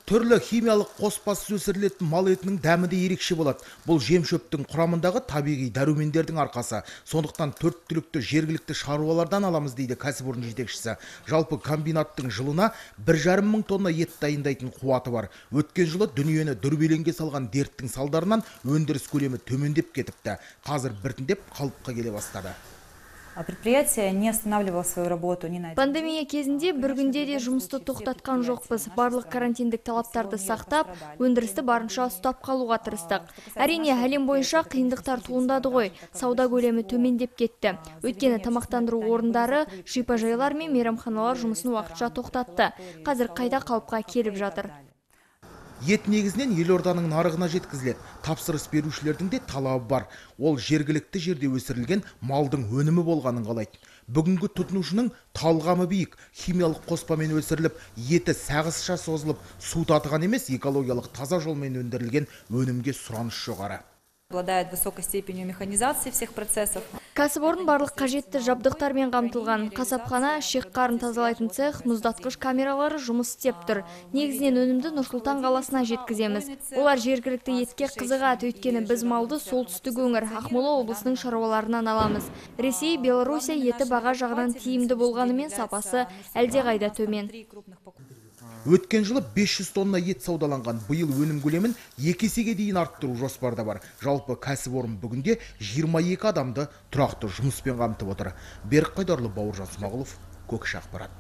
Түрлі химиялық қоспасыз өсірілетін мал етінің дәмі де ерекше болады. Бұл жем-шөптің құрамындағы табиғи дәрумендердің арқасы. Сондықтан төрт түлікті жергілікті шаруалардан аламыз дейді кәсіпорын жетекшісі. Жалпы комбинаттың жылына 1,5 мың тонна ет дайындайтын қуаты бар. Өткен жылы дүниені дүрбелеңге салған дерттің салдарынан өндіріс көлемі төмендеп кетіпті. Қазір біртіндеп қалыпқа келе бастады. Предприятие не останавливало свою работу ни на один. Пандемия кезінде бір күнде де жұмысты тоқтатқан жоқпыз. Барлық карантиндік талаптарды сақтап, өндірісті барынша ұстап қалуға тырыстық. Әрине, әлем бойынша қиындықтар туындады ғой. Сауда көлемі төмендеп кетті. Өйткені тамақтандыру орындары, шипажайлар мен мейрамханалар жұмысын уақытша тоқтатты. Қазір қайта қалыпқа келіп жатыр. Ет негізінен елорданың нарығына жеткізіледі. Тапсырыс берушілердің де талабы бар. Ол жергілікті жерде өсірілген малдың өнімі болғанын қалайды. Бүгінгі тұтынушының талғамы биік. Химиялық қоспамен өсіріліп, еті сағызша созылып, су татыған емес, экологиялық таза жолмен өндірілген өнімге сұраныс жоғары. Обладает высокой степенью механизации всех процессов. Кәсіпорын барлық қажетті жабдықтармен қамтылған. Қасапхана, шек-қарын тазалайтын цех, мұздатқыш камералары жұмыс істеп тұр. Негізінен өнімді Нұр-Сұлтан қаласына жеткіземіз. Олар жергілікті етке қызығады, өйткені біз малды солтүстік өңір Ақмола облысының шаруаларынан аламыз. Ресей, Белоруссия еті баға жағынан тиімді болғанымен сапасы әлдеқайда төмен. Өткен жылы 500 тонна ет саудаланған, биыл өнім көлемін 2 есеге дейін арттыру жоспарда бар. Жалпы кәсіпорын бүгінде 22 адамды тұрақты жұмыспен қамтып отыр. Берік Қайдарлы, Бауыржан Смағұлов, Көкше ақпарат.